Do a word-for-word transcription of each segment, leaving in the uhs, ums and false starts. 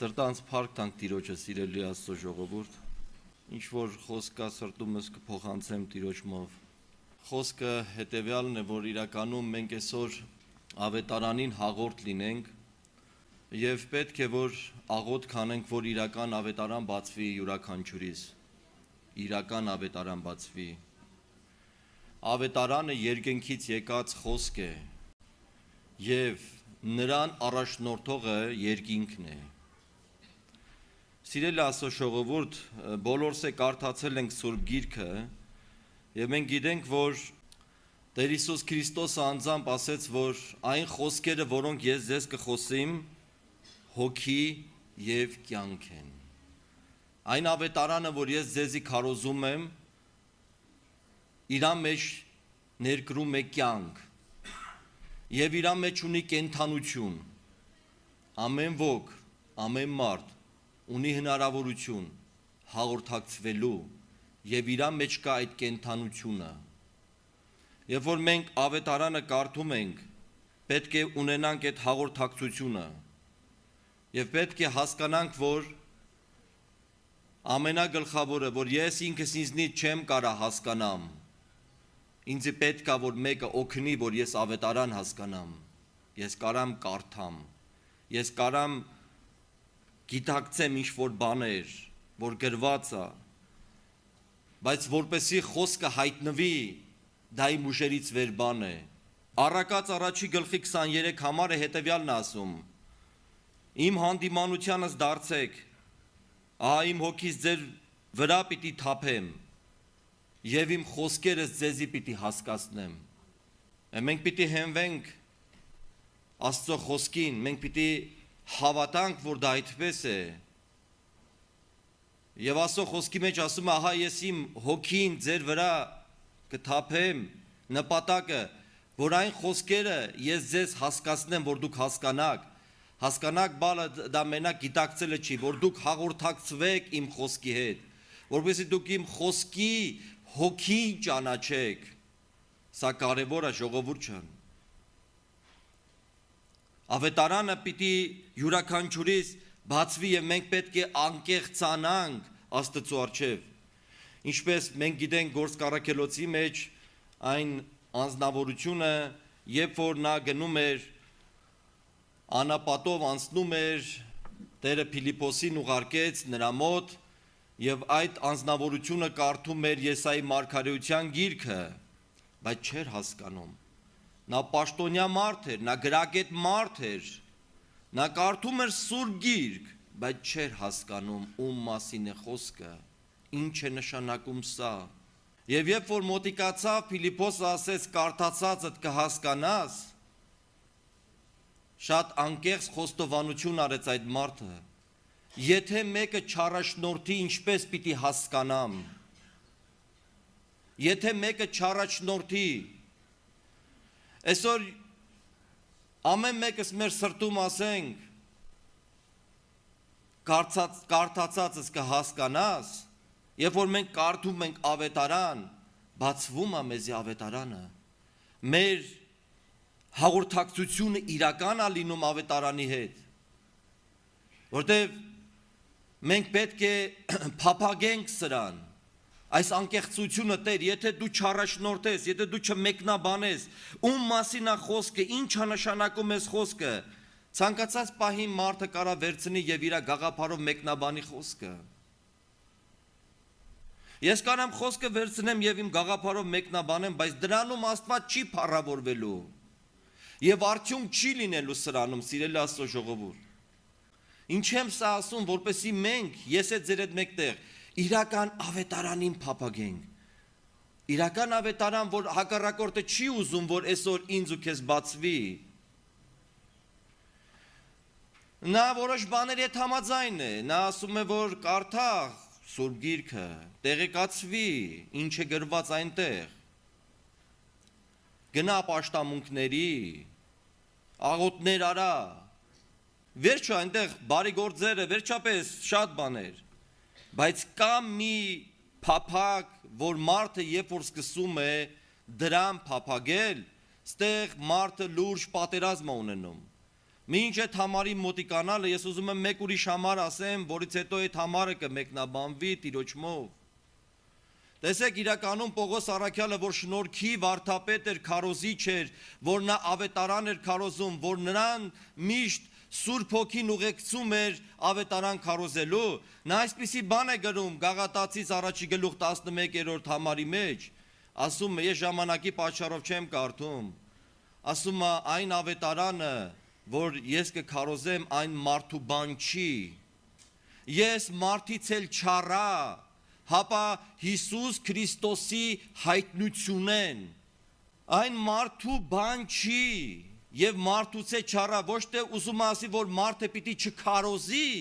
Սրտանց փառք տանք Տիրոջը, սիրելի Աստծո ժողովուրդ, ինչ որ խոսքա սրտումս կփոխանցեմ Տիրոջմով։ Խոսքը հետևյալն է, որ իրականում մենք այսօր ավետարանին հաղորդ լինենք եւ պետք է որ աղոթ կանենք, որ իրական ավետարան բացվի յուրաքանչյուրիս։ Իրական ավետարան բացվի։ Ավետարանը երկնքից եկած խոսք է եւ նրան առաջնորդողը երկինքն է։ Սիրելի Աստծո ժողովուրդ, բոլորս է կարդացել ենք Սուրբ Գիրքը եւ մենք գիտենք, որ Տեր Հիսուս Քրիստոսը անձամբ ասեց, որ այն խոսքերը, որոնք ես ձեզ կխոսեմ, հոգի եւ կյանք են։ Այն ավետարանը, որ ես ձեզի քարոզում եմ, իր մեջ ներկրում է կյանք եւ իր մեջ ունի կենթանություն։ Ամեն ոք, ամեն մարդ ունի հնարավորություն հաղորդակցվելու եւ իր մեջ կա այդ կենթանությունը։ Երբ որ մենք ավետարանը կարդում ենք, պետք է ունենանք այդ հաղորդակցությունը եւ պետք է հասկանանք, որ ամենագլխավորը, որ ես ինքս ինձնից չեմ կարա հասկանամ, ինձ պետք է որ մեկը օգնի, որ ես ավետարան հասկանամ, ես կարամ կարդամ, ես կարամ գիտակցեմ ինչ-որ բաներ, որ գրված է, բայց որպեսի խոսքը հայտնվի, դա իմ ուժերից վեր բան է։ Առակաց առաջի գլխի քսաներեք համարը հետևյալն ասում. Իմ հանդիմանությանս դարձեք, ահա իմ հոգիս ձեր վրա պիտի թափեմ, եւ իմ խոսքերս ձեզի պիտի հասկացնեմ։ Մենք պիտի հենվենք Աստծո խոսքին, մենք պիտի հավատանք, որ դա այդպես է։ Եվ Աստծո խոսքի մեջ ասում է, ահա ես իմ հոգին ձեր վրա կթափեմ, նպատակը, որ այն խոսքերը ես ձեզ հասկացնեմ, որ դուք հասկանաք, հասկանաք բալը դա մենակ գիտակցելը չի, որ դուք հաղորդակցվեք իմ խոսքի հետ, որպեսզի դուք իմ խոսքի հոգին ճանաչեք։ Սա կարևոր է, ժողովուրդ ջան։ Ավետարանը պիտի յուրաքանչյուրիս բացվի եւ մենք պետք է անկեղծանանք Աստծո առջև։ Ինչպես մենք գիտենք Գործք մեջ այն անձնավորությունը, երբ որ նա գնում էր անապատով անցնում էր, Տերը Փիլիպոսին ուղարկեց նրա մոտ եւ այդ անձնավորությունը կարդում էր Եսայի մարգարեության գիրքը, բայց չէր հասկանում։ Նա պաշտոնյա մարդ էր, նա գրագետ մարդ էր, նա կարդում էր Սուրբ Գիրք, բայց չէր հասկանում ում մասին է խոսքը, ինչ է նշանակում սա։ Եվ երբ որ մոտիկացավ, Փիլիպոսը ասեց կարդացածդ կհասկանաս, շատ անկեղծ խոստովանություն արեց այդ մարդը։ Եթե մեկը չառաջնորդի, ինչպես պիտի հասկանամ։ Եթե մեկը չառաջնորդի, այսօր ամեն մեկս մեր սրտում ասենք կարդացածս կհասկանաս, երբ որ մենք կարդում ենք ավետարան, բացվում է մեզի ավետարանը, մեր հաղորդակցությունը իրական է լինում ավետարանի հետ, որտեղ մենք պետք է փափագենք սրան, այս անկեղծությունը Տեր, եթե դու չառաջնորդես, եթե դու չմեկնաբանես, ում մասին է խոսքը, ինչ է նշանակում այս խոսքը, ցանկացած պահի մարդը կարա վերցնի եւ իր գաղափարով մեկնաբանի խոսքը։ Ես կարամ խոսքը վերցնեմ եւ իմ գաղափարով մեկնաբանեմ, բայց դրանում Աստված չի փառավորվելու եւ արդյունք չի լինելու սրանում, սիրելի Աստծո ժողովուրդ։ Ինչ եմ սա ասում, որպեսզի մենք, ես է ձեր հետ մեկտեղ իրական ավետարանին փափագենք։ Իրական ավետարան, որ հակառակորդը չի ուզում, որ այսօր ինձ ու քեզ բացվի։ Նա որոշ բաներ հետ համաձայն է, նա ասում է, որ կարդա Սուրբ Գիրքը, տեղեկացվի, ինչ է գրված այնտեղ։ Գնա պաշտամունքների, աղոթներ արա։ Վերջը այնտեղ բարի գործերը, վերջապես շատ բաներ։ Բայց կա մի փափագ, որ մարդը երբ որ սկսում է դրան փափագել, ստեղ մարդը լուրջ պատերազմ է ունենում։ Մինչ այդ համարի մոտիկանալը ես ուզում եմ մեկ ուրիշ համար ասեմ, որից հետո այդ համարը կմեկնաբանվի Տիրոջմով։ Տեսեք իրականում Պողոս առաքյալը, որ շնորհքի վարդապետ էր, քարոզիչ էր, որ նա ավետարան էր քարոզում, որ նրան միշտ Սուրբ Հոգին ուղեկցում էր ավետարան քարոզելու, նա այսպիսի բան է գրում Գաղատացիս առաջի գլուխ տասնմեկերորդ համարի մեջ, ասում է, ես ժամանակի պատճառով չեմ կարդում, ասում է այն ավետարանը, որ ես կքարոզեմ, այն մարդու բան չի, ես մարդից էլ չառա, հապա Հիսուս Քրիստոսի հայտնությունեն, այն մարդու բան չի, և մարդուց է չառա, ոչ թե ուզում ասի, որ մարդը պիտի չքարոզի,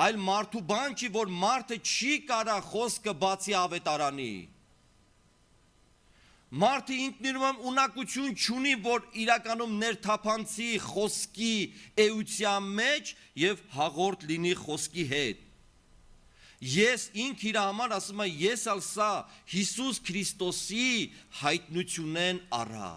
այլ մարդու բան չի, որ մարդը չի կարա խոսքը բացի ավետարանի։ Մարդը ինքնիրում ունակություն չունի, որ իրականում ներթափանցի խոսքի էության մեջ և հաղորդ լինի խոսքի հետ։ Ես ինք իր համար ասում եմ, ես ալ սա Հիսուս Քրիստոսի հայտնությունեն առա։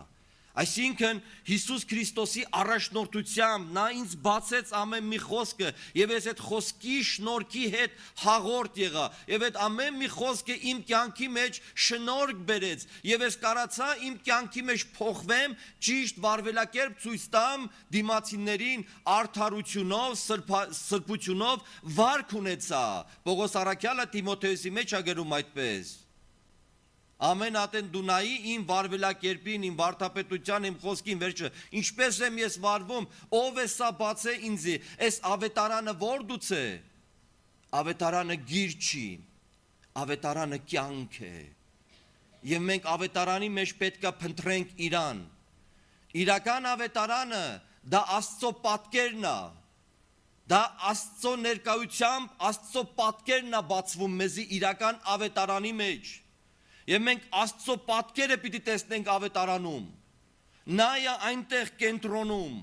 Այսինքն Հիսուս Քրիստոսի առաջնորդությամբ նա ինձ բացեց ամեն մի խոսքը և ես այդ խոսքի շնորհքի հետ հաղորդ եղա և այդ ամեն մի խոսքը իմ կյանքի մեջ շնորհք բերեց և ես կարացա իմ կյանքի մեջ փոխվեմ, ճիշտ վարվելակերպ ցույց տամ դիմացիներին արդարությունով, սրբությունով վարք ունեցա։ Պողոս առաքյալը Տիմոթեոսի մեջ է գրում այդպես. Ամեն ատեն դունայի իմ վարվելակերպին, իմ վարդապետության, իմ խոսքին վերջը, ինչպես եմ ես վարվում, ով է սա բացե ինձի, այս ավետարանը որդուց է, ավետարանը գիր չի, ավետարանը կյանք է, և մենք ավետարանի մեջ պետք է փնտրենք իրան, իրական ավետարանը դա Աստծո պատկերն է, դա Աստծո ներկայությամբ, Աստծո պատկերն է բացվում մեզի իրական ավետարանի մեջ, և մենք Աստծո պատկերը պիտի տեսնենք ավետարանում, նա է այնտեղ կենտրոնում,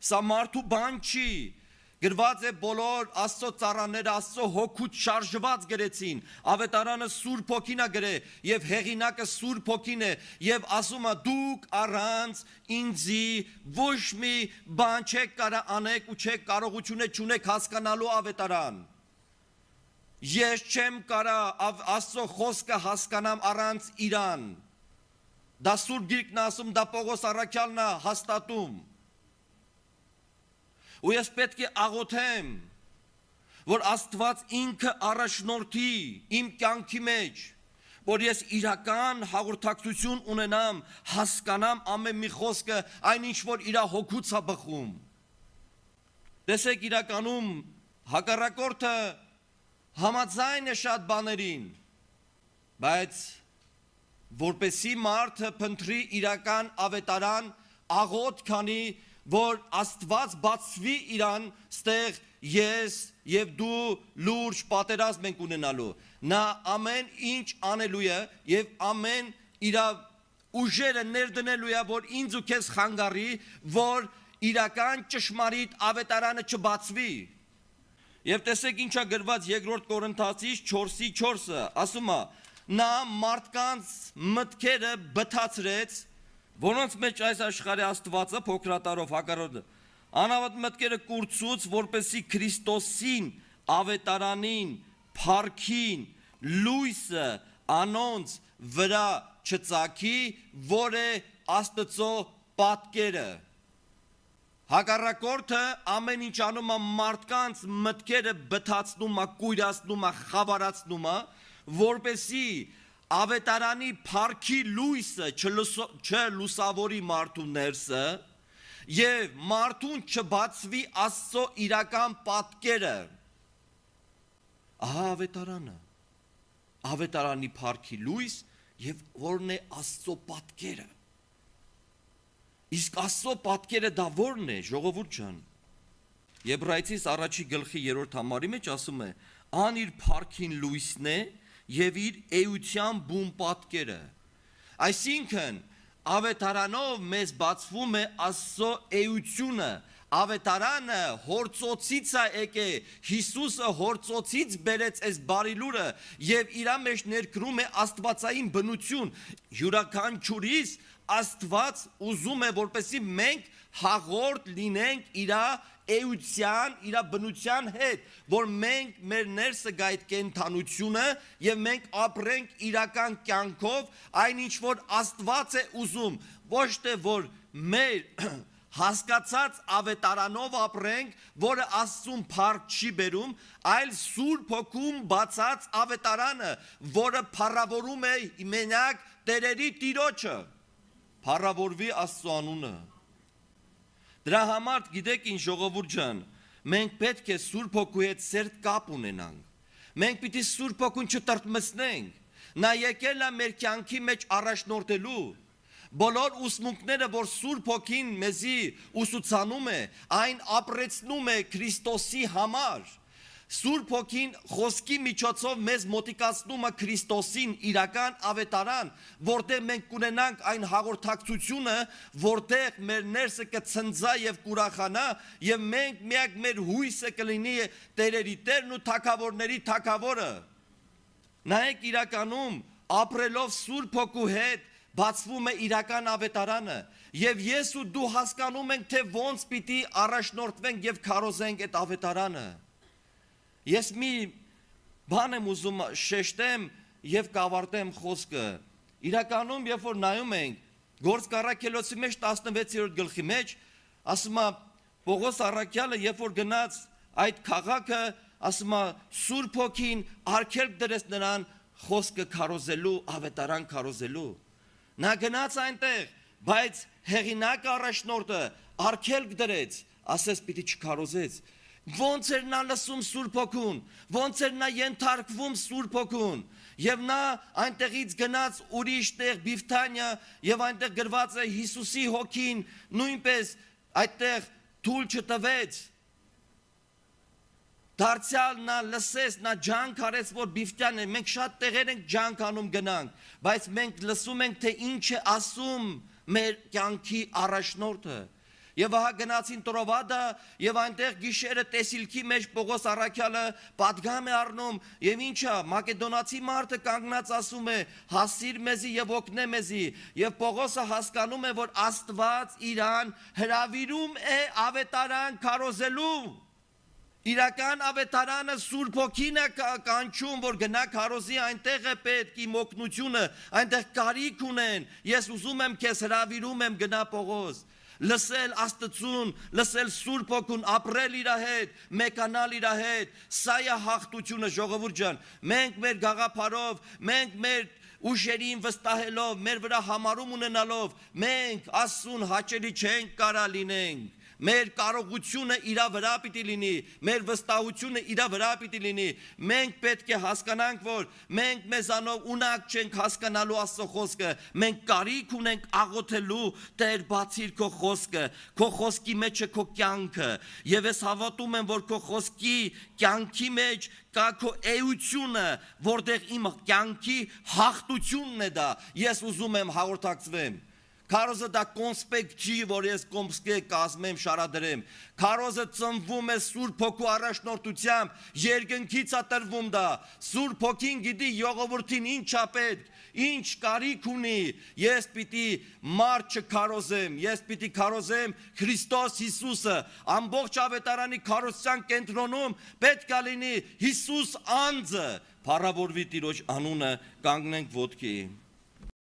սա մարդու բան չի, գրված է բոլոր Աստծո ծառաները Աստծո հոգուց շարժված գրեցին, ավետարանը Սուրբ Հոգին է գրել և հեղինակը Սուրբ Հոգին է և ասում է դուք առանց ինձի ոչ մի բան չեք կարա անեք ու չեք կարողությունը չունեք հասկանալու ավետարան։ Ես չեմ կարա Աստծո խոսքը հասկանամ առանց իրան, դա Սուրբ Գիրքն ասում, դա Պողոս առաքյալն է հաստատում, ու ես պետք է աղոթեմ, որ Աստված ինքը առաջնորդի իմ կյանքի մեջ, որ ես իրական հաղորդակցություն ունենամ, հասկանամ ամեն մի խոսքը, այն ինչ որ իրա հոգուց է բխում։ Տեսեք իրականում հակառակորդը համաձայն է շատ բաներին, բայց որպեսի մարդը փնտրի իրական ավետարան, աղոթ քանի, որ Աստված բացվի իրան, ստեղ ես և դու լուրջ պատերազմ ենք ունենալու, նա ամեն ինչ անելու է և ամեն իր ուժերը ներդնելու է, որ ինձ ու քեզ խանգարի, որ իրական ճշմարիտ ավետարանը չբացվի։ Եվ տեսեք ինչա գրված երկրորդ Կորինթացիս չորսի չորսը, ասում է, նա մարդկանց մտքերը բթացրեց, որոնց մեջ այս աշխարհի Աստվածը փոքրատարով հակառակը, անավատ մտքերը կուրցուց, որպեսի Քրիստոսին, ավետարանին, փառքին, լույսը անոնց վրա չծագի, որ է Աստծո պատկերը։ Հակառակորդը ամեն ինչ անում է մարդկանց մտքերը բթացնում է, կույրացնում է, խավարացնում է, որպեսի ավետարանի փառքի լույսը չլուսավորի մարդու ներսը և մարդուն չբացվի Աստծո իրական պատկերը։ Ահա ավետարանը, ավետարանի փառքի լույս և որն է Աստծո պատկերը։ Իսկ Աստծո պատկերը դա որն է, ժողովուրդ ջան։ Եբրայեցիս առաջի գլխի երրորդ համարի մեջ ասում է. ան իր փառքին լույսն է և իր էության բուն պատկերը։ Այսինքն ավետարանով մեզ բացվում է Աստծո էությունը, ավետարանը հործոցից է եկե, Հիսուսը հործոցից բերեց այս բարի լուրը և իրա մեջ ներկրում է աստվածային բնություն, յուրաքանչյուրիս Աստված ուզում է որպեսզի մենք հաղորդ լինենք իր էության, իր բնության հետ, որ մենք մեր ներսը գա այդ կենթանությունը եւ մենք ապրենք իրական կյանքով, այնինչ որ Աստված է ուզում, ոչ թե որ մեր հասկացած ավետարանով ապրենք, որը Աստծուն փառք չի բերում, այլ Սուրբ Հոգում բացած ավետարանը, որը փառավորում է մենակ տերերի Տիրոջը, փառավորվի Աստծո անունը։ Դրա համար գիտեք ինչ ժողովուրդ ջան, մենք պետք է Սուրբ Հոգու հետ սերտ կապ ունենանք։ Մենք պիտի Սուրբ Հոգուն չտրտմեցնենք։ Նա եկել է մեր կյանքի մեջ առաջնորդելու։ Բոլոր ուսմունքները, որ Սուրբ Հոգին մեզի ուսուցանում է, այն ապրեցնում է Քրիստոսի համար։ Սուրբ Հոգին խոսքի միջոցով մեզ մոտիկացնում է Քրիստոսին իրական ավետարան, որտեղ մենք կունենանք այն հաղորդակցությունը, որտեղ մեր ներսը կցնձա եւ կուրախանա եւ մենք միակ մեր հույսը կլինի տերերի Տերն ու թագավորների թագավորը։ Նայեք իրականում ապրելով Սուրբ Հոգու հետ բացվում է իրական ավետարանը եւ ես ու դու հասկանում ենք թե ոնց պիտի առաջնորդվենք եւ քարոզենք այդ ավետարանը։ Ես մի բան եմ ուզում շեշտեմ եւ կավարտեմ խոսքը։ Իրականում երբ որ նայում ենք Գործք առաքելոցի մեջ տասնվեցերորդ գլխի մեջ ասում է Պողոս առաքյալը երբ որ գնաց այդ քաղաքը ասում է Սուրբ Հոգին արգելք դրեց նրան խոսքը քարոզելու, ավետարան քարոզելու։ Նա գնաց այնտեղ, բայց հեղինակը առաջնորդը արգելք դրեց, ասես պիտի չքարոզեց։ Ոնց էր նա լսում Սուրբ Հոգուն, ոնց էր նա ենթարկվում Սուրբ Հոգուն, եւ նա այնտեղից գնաց ուրիշ տեղ Բիֆթանիա եւ այնտեղ գրված է Հիսուսի Հոգին նույնպես այդտեղ թույլ չտվեց։ Դարձյալ նա լսեց, նա ջանք արեց, որ Բիֆթանիա, մենք շատ տեղեր ենք ջանք անում գնանք, բայց մենք լսում ենք, թե ինչ է ասում մեր կյանքի առաջնորդը։ Եվ ահա գնացին Տրովադա եւ այնտեղ գիշերը տեսիլքի մեջ Պողոս առաքյալը պատգամ է առնում եւ ինչա մակեդոնացի մարդը կանգնած ասում է հասիր մեզի եւ օգնե մեզի եւ Պողոսը հասկանում է որ Աստված իրան հրավիրում է ավետարան քարոզելու իրական ավետարանը Սուրբ Հոգին է կանչում որ գնա քարոզի այնտեղ է պետք իմ օգնությունը այնտեղ կարիք ունեն ես ուզում եմ քեզ հրավիրում եմ գնա Պողոս լսել Աստծուն, լսել Սուրբ Հոգուն, ապրել իր հետ, մեկանալ իր հետ, սա է հաղթությունը ժողովուրդ ջան, մենք մեր գաղափարով, մենք մեր ուժերին վստահելով, մեր վրա համարում ունենալով, մենք Աստծուն հաճելի չենք կարա լինենք, մեր կարողությունը իր վրա պիտի լինի, մեր վստահությունը իր վրա պիտի լինի, մենք պետք է հասկանանք, որ մենք մեզանով ունակ չենք հասկանալու Աստծո խոսքը, մենք կարիք ունենք աղոթելու Տեր բացիր քո խոսքը, քո խոսքի մեջ է քո կյանքը, եւ ես հավատում եմ, որ քո խոսքի կյանքի մեջ կա քո էությունը, որտեղ իմ կյանքի հաղթությունն է դա, ես ուզում եմ հաղորդակցվեմ Քարոզը դա կոնսպեկտ չի, որ ես կոմսկե կազմեմ, շարադրեմ։ Քարոզը ծնվում է Սուրբ Հոգու առաջնորդությամբ, երկնքից է տրվում դա։ Սուրբ Հոգին գիտի ժողովրդին ինչ է պետք, ինչ կարիք ունի։ Ես պիտի մարդ չքարոզեմ, ես պիտի քարոզեմ Քրիստոս Հիսուսը։ Ամբողջ ավետարանի քարոզության կենտրոնում պետք է լինի Հիսուս անձը։ Փառավորվի Տիրոջ անունը, կանգնենք ոտքի։